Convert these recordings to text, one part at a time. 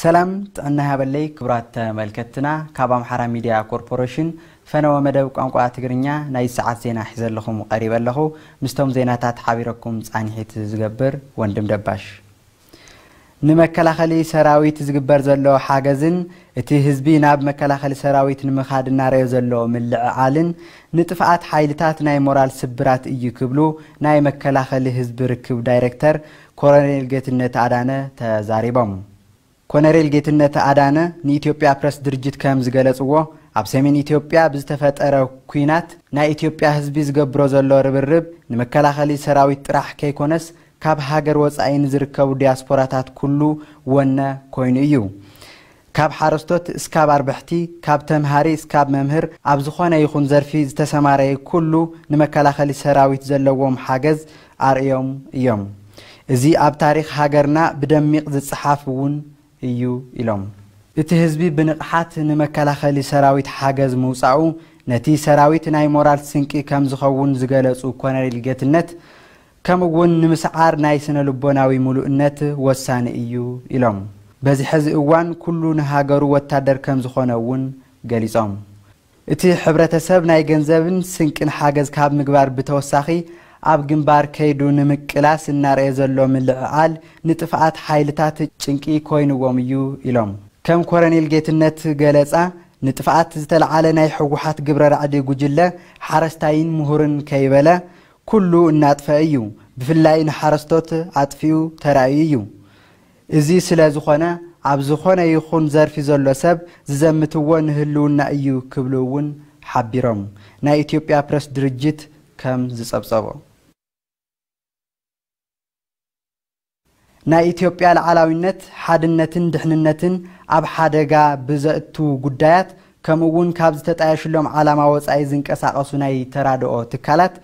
ሰላም ጥዕና ይሃበለይ ክቡራት ተመልከትና፣ ካብ ኣምሓራ ሚድያ ኮርፖሬሽን ፈነወ መደብ ቋንቋ ትግርኛ ናይ ሰዓት ዜና ሒዘ ኣለኹም ቀሪበ ኣለኹ። ምስቶም ዜናታት ሓቢረኩም ጻንሒት ዝገብር ወንድም ደባሽ። ንመከላኸሊ ሰራዊት ዝግበር ዘሎ ሓገዝን እቲ ህዝቢ ናብ መከላኸሊ ሰራዊት ንምኻድ እናረዮ ዘሎ ምልዕዓልን ንጥፍኣት ሓይልታት ናይ ሞራል ስብራት እዩ ክብሉ ናይ መከላኸሊ ህዝቢ ርክብ ዳይሬክተር ኮሎኔል ጌትነት ኣዳነ ተዛሪቦም። ኮነሬል ጌትነት ኣዳነ ንኢትዮጵያ ፕረስ ድርጅት ከም ዝገለጽዎ፣ ኣብ ሰሜን ኢትዮጵያ ብዝተፈጠረ ኲናት ናይ ኢትዮጵያ ህዝቢ ዝገብሮ ዘሎ ርብርብ ንመከላኸሊ ሰራዊት ጥራሕ ከይኮነስ ካብ ሃገር ወጻኢ ንዝርከቡ ዲያስፖራታት ኩሉ ወነ ኮይኑ እዩ። ካብ ሓረስቶት እስካብ ኣርበሕቲ፣ ካብ ተምሃሪ እስካብ መምህር፣ ኣብ ዝኾነ ይኹን ዘርፊ ዝተሰማረየ ኩሉ ንመከላኸሊ ሰራዊት ዘለዎም ሓገዝ ኣርእዮም እዮም። እዚ ኣብ ታሪኽ ሃገርና ብደሚቕ ዝጸሓፍ እውን እዩ ኢሎም። እቲ ህዝቢ ብንቕሓት ንመከላኸሊ ሰራዊት ሓገዝ ምውጻኡ ነቲ ሰራዊት ናይ ሞራል ስንቂ ከም ዝኸውን ዝገለጹ ኮነሬል ጌትነት፣ ከምኡ እውን ንምስዓር ናይ ስነ ልቦናዊ ምሉእነት ወሳኒ እዩ ኢሎም። በዚ ሕዚ እዋን ኩሉ ንሃገሩ ወታደር ከም ዝኾነ እውን ገሊጾም። እቲ ሕብረተሰብ ናይ ገንዘብን ስንቅን ሓገዝ ካብ ምግባር ብተወሳኺ ኣብ ግንባር ከይዱ ንምቅላስ እናረየ ዘሎ ምልዕዓል ንጥፍኣት ሓይልታት ጭንቂ ኮይንዎም እዩ ኢሎም። ከም ኮረኔል ጌትነት ገለጻ፣ ንጥፍኣት ዝተለዓለ ናይ ህወሓት ግብረ ራዕዲ ጉጅለ ሓረስታይን ምሁርን ከይበለ ኩሉ እናጥፈ እዩ። ብፍላይ ንሓረስቶት ኣጥፊኡ ተራእዩ እዩ። እዚ ስለ ዝኾነ ኣብ ዝኾነ ይኹን ዘርፊ ዘሎ ሰብ ዝዘምትዎ ንህልውና እዩ ክብሉ እውን ሓቢሮም። ናይ ኢትዮጵያ ፕረስ ድርጅት ከም ዝጸብጸቦ። ናይ ኢትዮጵያ ሉዓላዊነት፣ ሓድነትን ድሕንነትን ኣብ ሓደጋ ብዘእቱ ጉዳያት፣ ከምኡ እውን ካብ ዝተጣየሽሎም ዓላማ ወጻኢ ዝንቀሳቐሱ ናይ ተራድኦ ትካላት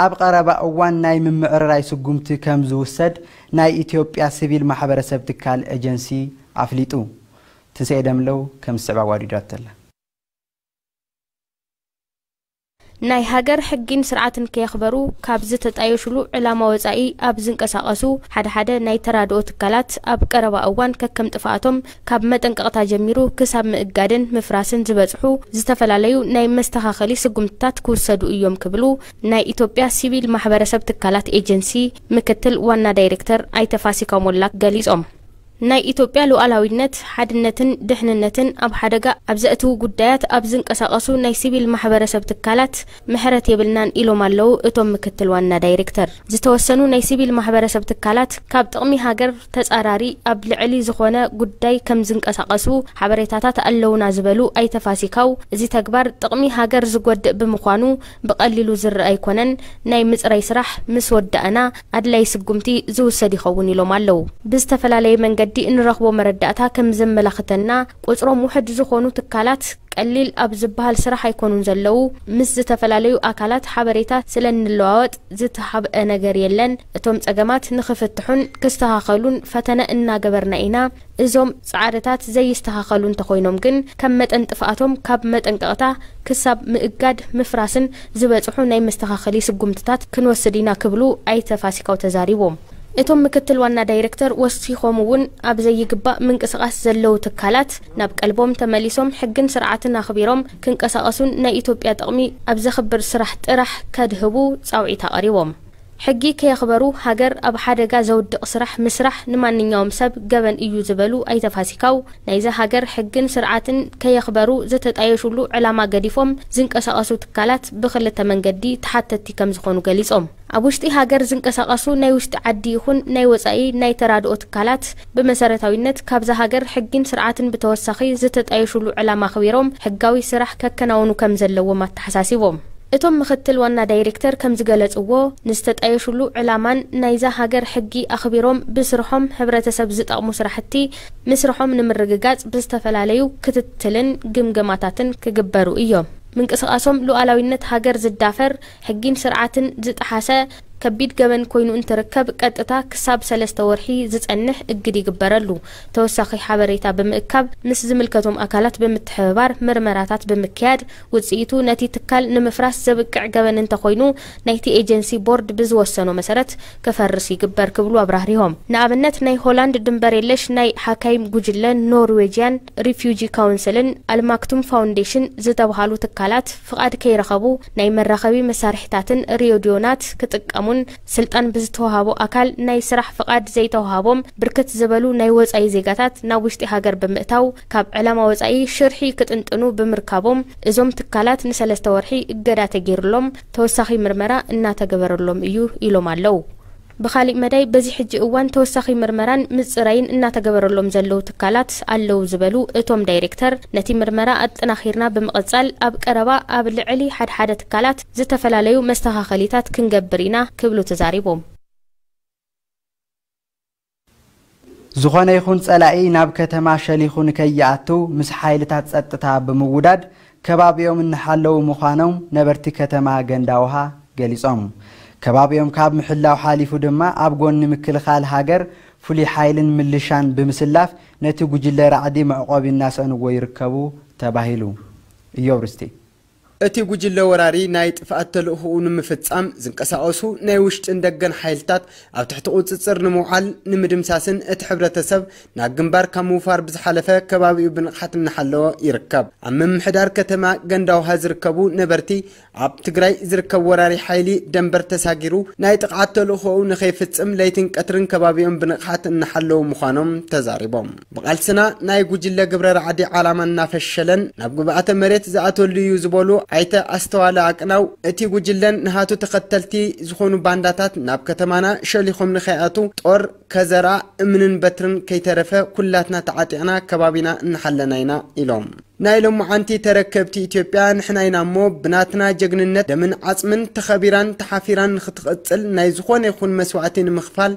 ኣብ ቀረባ እዋን ናይ ምምዕርራይ ስጉምቲ ከም ዝውሰድ ናይ ኢትዮጵያ ሲቪል ማሕበረሰብ ትካል ኤጀንሲ ኣፍሊጡ። ትንሳኤ ደምለው ከም ዝስዕብ ኣዋዲዳቶ ኣላ። ናይ ሃገር ሕጊን ስርዓትን ከየኽበሩ ካብ ዝተጣየሹሉ ዕላማ ወጻኢ ኣብ ዝንቀሳቐሱ ሓደ ሓደ ናይ ተራድኦ ትካላት ኣብ ቀረባ እዋን ከከም ጥፍኣቶም ካብ መጠንቀቕታ ጀሚሩ ክሳብ ምእጋድን ምፍራስን ዝበጽሑ ዝተፈላለዩ ናይ መስተኻኸሊ ስጉምትታት ክውሰዱ እዮም ክብሉ ናይ ኢትዮጵያ ሲቪል ማሕበረሰብ ትካላት ኤጀንሲ ምክትል ዋና ዳይሬክተር ኣይተ ፋሲካ ሞላ ገሊጾም። ናይ ኢትዮጵያ ሉዓላዊነት፣ ሓድነትን ድሕንነትን ኣብ ሓደጋ ኣብ ዘእትዉ ጉዳያት ኣብ ዝንቀሳቐሱ ናይ ሲቪል ማሕበረሰብ ትካላት ምሕረት የብልናን ኢሎም ኣለዉ እቶም ምክትል ዋና ዳይሬክተር። ዝተወሰኑ ናይ ሲቪል ማሕበረሰብ ትካላት ካብ ጥቕሚ ሃገር ተጻራሪ ኣብ ልዕሊ ዝኾነ ጉዳይ ከም ዝንቀሳቐሱ ሓበሬታታት ኣለዉና ዝበሉ ኣይተ ፋሲካው፣ እዚ ተግባር ጥቕሚ ሃገር ዝጎድእ ብምዃኑ ብቐሊሉ ዝረኣ ኣይኮነን። ናይ ምጽራይ ስራሕ ምስ ወዳእና ኣድላይ ስጉምቲ ዝውሰድ ይኸውን ኢሎም ኣለዉ። ብዝተፈላለየ መንገዲ እንረኽቦ መረዳእታ ከም ዘመላኽተና፣ ቁጽሮም ውሑድ ዝኾኑ ትካላት ቀሊል ኣብ ዝበሃል ስራሕ ኣይኮኑን ዘለዉ። ምስ ዝተፈላለዩ ኣካላት ሓበሬታ ስለ እንለዋወጥ ዝተሓብአ ነገር የለን። እቶም ጸገማት ንኽፍትሑን ክስተኻኸሉን ፈተነ እናገበርና ኢና። እዞም ጻዕርታት ዘይስተኻኸሉ እንተኾይኖም ግን፣ ከም መጠን ጥፍኣቶም ካብ መጠንቀቕታ ክሳብ ምእጋድ ምፍራስን ዝበጽሑ ናይ መስተኻኸሊ ስጉምትታት ክንወስድ ኢና ክብሉ ኣይተ ፋሲካው ተዛሪቦም። እቶም ምክትል ዋና ዳይሬክተር ወሲኾም እውን፣ ኣብ ዘይግባእ ምንቅስቓስ ዘለዉ ትካላት ናብ ቀልቦም ተመሊሶም ሕግን ስርዓትን ኣኽቢሮም ክንቀሳቐሱን ናይ ኢትዮጵያ ጥቕሚ ኣብ ዘኽብር ስራሕ ጥራሕ ከድህቡ ጻውዒት ኣቕሪቦም። ሕጊ ከየኽበሩ ሃገር ኣብ ሓደጋ ዘውድቕ ስራሕ ምስራሕ ንማንኛውም ሰብ ገበን እዩ ዝበሉ ኣይተ ፋሲካው፣ ናይዛ ሃገር ሕግን ስርዓትን ከየኽበሩ ዝተጣየሹሉ ዕላማ ገዲፎም ዝንቀሳቐሱ ትካላት ብኽልተ መንገዲ ተሓተትቲ ከም ዝኾኑ ገሊጾም። ኣብ ውሽጢ ሃገር ዝንቀሳቐሱ ናይ ውሽጢ ዓዲ ይኹን ናይ ወጻኢ ናይ ተራድኦ ትካላት ብመሰረታዊነት ካብዛ ሃገር ሕጊን ስርዓትን ብተወሳኺ ዝተጣየሹሉ ዕላማ ኣኽቢሮም ሕጋዊ ስራሕ ከከናውኑ ከም ዘለዎም ኣተሓሳሲቦም። እቶም ምክትል ዋና ዳይሬክተር ከም ዝገለጽዎ፣ ንዝተጣየሹሉ ዕላማን ናይዛ ሃገር ሕጊ ኣኽቢሮም ብስርሖም ሕብረተሰብ ዝጠቕሙ ስራሕቲ ምስርሖም ንምርግጋጽ ብዝተፈላለዩ ክትትልን ግምገማታትን ክግበሩ እዮም። ምንቅስቓሶም ሉዓላዊነት ሃገር ዝዳፈር፣ ሕጊን ስርዓትን ዝጠሓሰ፣ ከቢድ ገበን ኮይኑ እንትርከብ ቀጥታ ክሳብ ሰለስተ ወርሒ ዝጸንሕ እግድ ይግበረሉ። ተወሳኺ ሓበሬታ ብምእካብ ምስ ዝምልከቶም ኣካላት ብምትሕብባር ምርመራታት ብምክያድ ውጽኢቱ ነቲ ትካል ንምፍራስ ዘብቅዕ ገበን እንተኾይኑ ናይቲ ኤጀንሲ ቦርድ ብዝወሰኖ መሰረት ክፈርስ ይግበር ክብሉ ኣብራህሪሆም። ንኣብነት ናይ ሆላንድ ድንበር የለሽ ናይ ሓካይም ጉጅለ ኖርዌጅያን ሪፊውጂ ካውንስልን ኣልማክቱም ፋውንዴሽን ዝተብሃሉ ትካላት ፍቓድ ከይረኸቡ ናይ መራኸቢ መሳርሕታትን ሬድዮናት ክጥቀሙን ስልጣን ብዝተዋሃቦ ኣካል ናይ ስራሕ ፍቓድ ዘይተዋሃቦም ብርክት ዝበሉ ናይ ወጻኢ ዜጋታት ናብ ውሽጢ ሃገር ብምእታው ካብ ዕላማ ወጻኢ ሽርሒ ክጥንጥኑ ብምርካቦም እዞም ትካላት ንሰለስተ ወርሒ እገዳ ተገይሩሎም ተወሳኺ ምርመራ እናተገበረሎም እዩ ኢሎም ኣለዉ። ብኻሊእ መዳይ በዚ ሕጂ እዋን ተወሳኺ ምርመራን ምጽራይን እናተገበረሎም ዘለዉ ትካላት ኣለዉ ዝበሉ እቶም ዳይሬክተር ነቲ ምርመራ ኣጠናኺርና ብምቕጻል ኣብ ቀረባ ኣብ ልዕሊ ሓድሓደ ትካላት ዝተፈላለዩ መስተኻኸሊታት ክንገብር ኢና ክብሉ ተዛሪቦም። ዝኾነ ይኹን ጸላኢ ናብ ከተማ ሸሊኹ ንከይኣቱ ምስ ሓይልታት ጸጥታ ብምውዳድ ከባቢኦም እናሓለዉ ምዃኖም ነበርቲ ከተማ ገንዳውሃ ገሊጾም። ከባቢኦም ካብ ምሕላው ሓሊፉ ድማ ኣብ ጎኒ ምክልኻል ሃገር ፍሉይ ሓይልን ምልሻን ብምስላፍ ነቲ ጉጅለ ራዕዲ መዕቆቢ እናሰእንዎ ይርከቡ ተባሂሉ። እዮብ ርስቲ። እቲ ጉጅለ ወራሪ ናይ ጥፍኣት ተልእኾኡ ንምፍጻም ዝንቀሳቐሱ ናይ ውሽጥን ደገን ሓይልታት ኣብ ትሕቲ ቁጽጽር ንምውዓል ንምድምሳስን እቲ ሕብረተሰብ ናብ ግንባር ካብ ምውፋር ብዝሓለፈ ከባቢኡ ብንቕሓት እናሓለወ ይርከብ። ኣብ ምምሕዳር ከተማ ገንዳውሃ ዝርከቡ ነበርቲ ኣብ ትግራይ ዝርከብ ወራሪ ሓይሊ ደንበር ተሳጊሩ ናይ ጥቕዓት ተልእኾኡ ንኸይፍጽም ለይትን ቀትርን ከባቢኦም ብንቕሓት እናሓለዉ ምዃኖም ተዛሪቦም። ብቓልስና ናይ ጉጅለ ግብረ ራዕዲ ዓላማ እናፈሸለን ናብ ግብኣተ መሬት ዝኣተሉ እዩ ዝበሉ ኣይተ ኣስተዋለ ኣቅናው፣ እቲ ጉጅለን ንሃቱ ተኸተልቲ ዝኾኑ ባንዳታት ናብ ከተማና ሸሊኾም ንኸይኣቱ ጦር፣ ከዘራ፣ እምንን በትርን ከይተረፈ ኩላትና ተዓጢቕና ከባቢና እናሓለና ኢና ኢሎም። ናይ ሎማዓንቲ ተረከብቲ ኢትዮጵያ ንሕና ኢና እሞ ብናትና ጀግንነት ደምን ዓፅምን ተኸቢራን ተሓፊራን ንክትቕፅል ናይ ዝኾነ ይኹን መስዋእቲ ንምኽፋል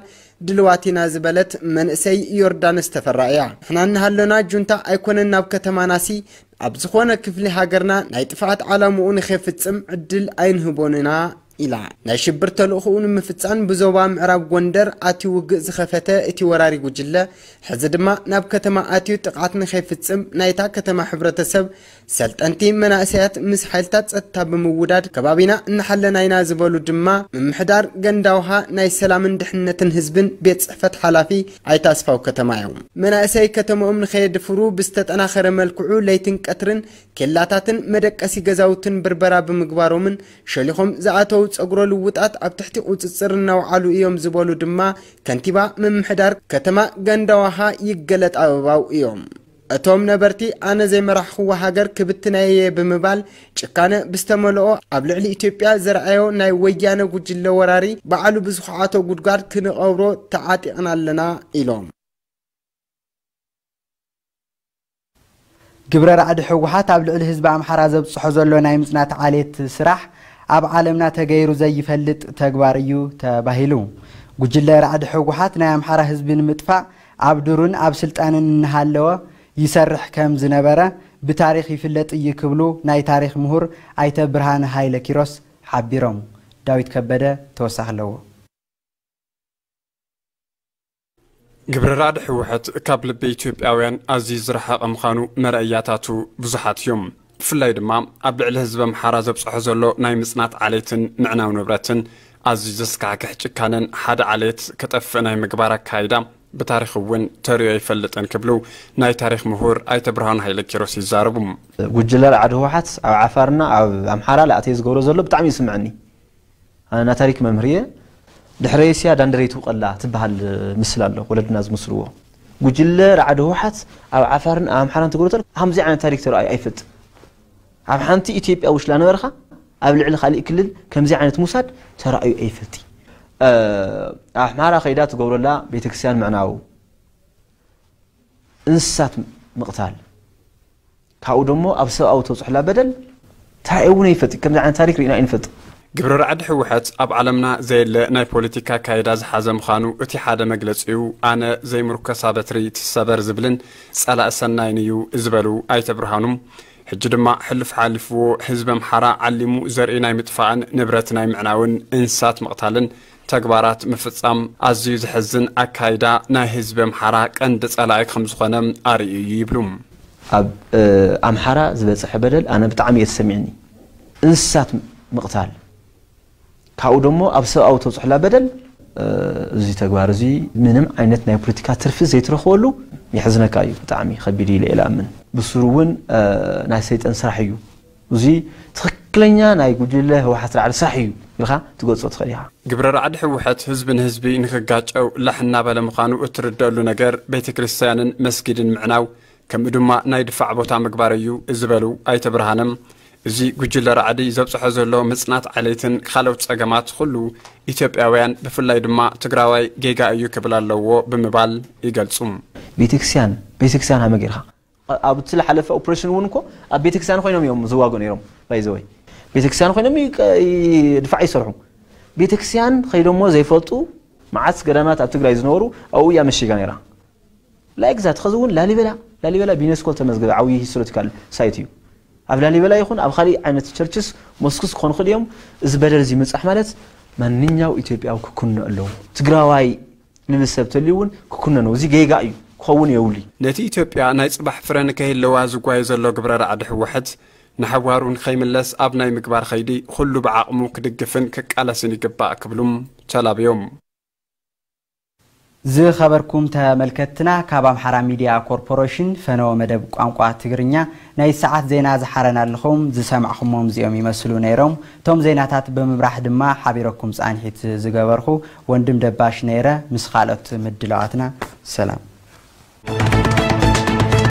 ድልዋት ኢና ዝበለት መንእሰይ ዮርዳኖስ ተፈራ እያ። ንሕና እናሃሎና ጁንታ ኣይኮነን ናብ ከተማናሲ ኣብ ዝኾነ ክፍሊ ሃገርና ናይ ጥፍኣት ዓላምኡ ንኸይፍፅም ዕድል ኣይንህቦን ኢና ኢላ። ናይ ሽብር ተልእኾኡ ንምፍፃም ብዞባ ምዕራብ ጎንደር ኣትዩ ውግእ ዝኸፈተ እቲ ወራሪ ጉጅለ ሕዚ ድማ ናብ ከተማ ኣትዩ ጥቕዓት ንኸይፍፅም ናይታ ከተማ ሕብረተሰብ ሰልጠንቲ መናእሰያት ምስ ሓይልታት ፀጥታ ብምውዳድ ከባቢና እናሓለና ኢና ዝበሉ ድማ ምምሕዳር ገንዳውሃ ናይ ሰላምን ድሕነትን ህዝብን ቤት ፅሕፈት ሓላፊ ኣይተ ኣስፋው ከተማ እዮም። መናእሰይ ከተምኦም ንኸየድፍሩ ብዝተጠናኸረ መልክዑ ለይትን ቀትርን ኬላታትን መደቀሲ ገዛውትን ብርበራ ብምግባሮምን ሸሊኾም ዝኣተው ፀጉረ ልውጣት ኣብ ትሕቲ ቁፅፅር እናውዓሉ እዮም ዝበሉ ድማ ከንቲባ ምምሕዳር ከተማ ገንዳዋሃ ይገለጥ ኣበባው እዮም። እቶም ነበርቲ ኣነ ዘይመራሕኽዋ ሃገር ክብትነያ እየ ብምባል ጭካነ ብዝተመልኦ ኣብ ልዕሊ ኢትዮጵያ ዘርኣዮ ናይ ወያነ ጉጅለ ወራሪ ባዕሉ ብዝኹዓቶ ጉድጓድ ክንቐብሮ ተዓጢቕና ኣለና ኢሎም። ግብረ ራዕዲ ህወሓት ኣብ ልዕሊ ህዝቢ ኣምሓራ ዘብፅሖ ዘሎ ናይ ምፅናት ዓሌት ስራሕ ኣብ ዓለምና ተገይሩ ዘይፈልጥ ተግባር እዩ ተባሂሉ። ጉጅለ ራዕዲ ህወሓት ናይ ኣምሓራ ህዝቢ ንምጥፋእ ኣብ ዱርን ኣብ ስልጣንን እናሃለወ ይሰርሕ ከም ዝነበረ ብታሪኽ ይፍለጥ እዩ ክብሉ ናይ ታሪኽ ምሁር ኣይተ ብርሃነ ሃይለ ኪሮስ ሓቢሮም። ዳዊት ከበደ ተወሳኺ ኣለዎ። ግብረ ራዕዲ ህወሐት ካብ ልቢ ኢትዮጵያውያን ኣዝዩ ዝረሓቐ ምዃኑ መረእያታቱ ብዙሓት እዮም። ብፍላይ ድማ ኣብ ልዕሊ ህዝቢ ኣምሓራ ዘብፅሖ ዘሎ ናይ ምፅናት ዓሌትን ምዕናው ንብረትን ኣዝዩ ዘስካሕክሕ ጭካነን ሓደ ዓሌት ከጠፍእ ናይ ምግባር ኣካይዳ ብታሪኽ እውን ተሪኦ ኣይፈልጥን ክብሉ ናይ ታሪኽ ምሁር ኣይተ ብርሃኑ ሃይለ ኪሮስ ይዛረቡ። ጉጅለ ራዕዲ ህወሓት ኣብ ዓፋርና ኣብ ኣምሓራ ላእተየ ዝገብሮ ዘሎ ብጣዕሚ ይስምዐኒ። ኣነ ናታሪክ መምህር እየ። ድሕረይ እስያ ዳንደረይ ትውቀላ ትበሃል ምስል ኣሎ ወለድና ዝምስልዎ። ጉጅለ ራዕዲ ህወሓት ኣብ ዓፋርን ኣብ ኣምሓራን ትገብሮ ተሎ ከምዚ ዓይነት ታሪክ ተራእዩ ኣይፈልጥን። ኣብ ሓንቲ ኢትዮጵያ ውሽላ ነበርካ ኣብ ልዕሊ ካሊእ ክልል ከምዚ ዓይነት ሙሳድ ተራእዩ ኣይፈልጥ። ኣሕማራ ከይዳ ትገብረላ ቤተክርስትያን ምዕናው፣ እንስሳት ምቕታል፣ ካብኡ ደሞ ኣብ ሰብኣዊ ተብፅሖላ በደል እንታይ እውን ኣይፈልጥ። ከምዚ ዓይነት ታሪክ ርኢና ኣይንፈልጥ። ግብረ ራዕዲ ህወሐት ኣብ ዓለምና ዘየለ ናይ ፖለቲካ ኣካይዳ ዝሓዘ ምዃኑ እቲ ሓደ መግለፂኡ ኣነ ዘይምርኮሳ በትሪ ትሰበር ዝብልን ፀላእ ሰናይን እዩ ዝበሉ ኣይተ ብርሃኑ ሕጂ ድማ ሕሉፍ ሓሊፍዎ ህዝቢ ኣምሓራ ዓሊሙ ዘርኢ ናይ ምጥፋእን ንብረት ናይ ምዕናውን እንስሳት ምቕታልን ተግባራት ምፍጻም ኣዝዩ ዘሕዝን ኣካይዳ ናይ ህዝቢ ኣምሓራ ቀንዲ ጸላኢ ከም ዝኾነ ኣርእዩ እዩ ይብሉ። ኣብ ኣምሓራ ዝበጽሐ በደል ኣነ ብጣዕሚ እየ ተሰሚዕኒ። እንስሳት ምቕታል፣ ካብኡ ደሞ ኣብ ሰብኣዊ ተብፅሑላ በደል። እዚ ተግባር እዚ ምንም ዓይነት ናይ ፖለቲካ ትርፊ ዘይትረኽበሉ የሕዝነካ እዩ። ብጣዕሚ ከቢድ እዩ ኢለ እየ ዝኣምን። ብስሩ እውን ናይ ሰይጠን ስራሕ እዩ። እዚ ትኽክለኛ ናይ ጉጅለ ህወሓት ራዕዲ ስራሕ እዩ ኢልካ ትገልፆ ትኽእል ኢኻ። ግብረ ራዕዲ ህወሓት ህዝቢ ንህዝቢ ንክጋጨው ላሕ እናበለ ምዃኑ እትርደኣሉ ነገር ቤተ ክርስቲያንን መስጊድን ምዕናው ከምኡ ድማ ናይ ድፋዕ ቦታ ምግባር እዩ ዝበሉ ኣይተ ብርሃነ፣ እዚ ጉጅለ ራዕዲ ዘብፅሖ ዘሎ ምፅናት ዓሌትን ካልኦት ፀገማት ኩሉ ኢትዮጵያውያን ብፍላይ ድማ ትግራዋይ ጌጋ እዩ ክብል ኣለዎ ብምባል ይገልፁ። ቤተክርስቲያን ቤተክርስቲያን ሃመ ጌርካ ኣብቲ ዝሓለፈ ኦፕሬሽን እውን እኮ ኣብ ቤተክርስቲያን ኮይኖም እዮም ዝዋጉ ነይሮም። ባይዘወይ ቤተክርስቲያን ኮይኖም ድፋዕ ይሰርሑ። ቤተክርስቲያን ከይዶሞ ዘይፈልጡ መዓት ገዳማት ኣብ ትግራይ ዝነበሩ ኣብኡ እያ መሽጋ ነይራ። ላይክ ዛት ኸዚ እውን ላሊበላ ላሊበላ ብዩኔስኮ ተመዝገበ ዓብዪ ሂስቶሪካል ሳይት እዩ። ኣብ ላሊበላ ይኹን ኣብ ካሊእ ዓይነት ቸርችስ ሞስክስ ክኾኑ ክእል እዮም። እዚ በደል እዚ ምብፃሕ ማለት ማንኛው ኢትዮጵያዊ ክኩኖ ኣለዎ። ትግራዋይ ልብል ሰብ ተልዩ እውን ክኩነኖ እዚ ጌጋ እዩ ክኸውን የብሉ። ነቲ ኢትዮጵያ ናይ ፅባሕ ፍረ ንከይህለዋ ዝጓየ ዘሎ ግብረ ራዕዲ ህወሓት ንሓዋሩ ንኸይምለስ ኣብ ናይ ምግባር ኸይዲ ኩሉ ብዓቕሙ ክድግፍን ክቃለስን ይግባእ ክብሉም ተላብዮም። ዝኸበርኩም ተመልከትና ካብ ኣምሓራ ሚድያ ኮርፖሬሽን ፈነወ መደብ ቋንቋ ትግርኛ ናይ ሰዓት ዜና ዝሓረና ኣለኹም ዝሰማዕኹሞም እዚኦም ይመስሉ ነይሮም። እቶም ዜናታት ብምብራሕ ድማ ሓቢረኩም ፃንሒት ዝገበርኹ ወንድም ደባሽ ነይረ ምስ ካልኦት ምድላዋትና ሰላም።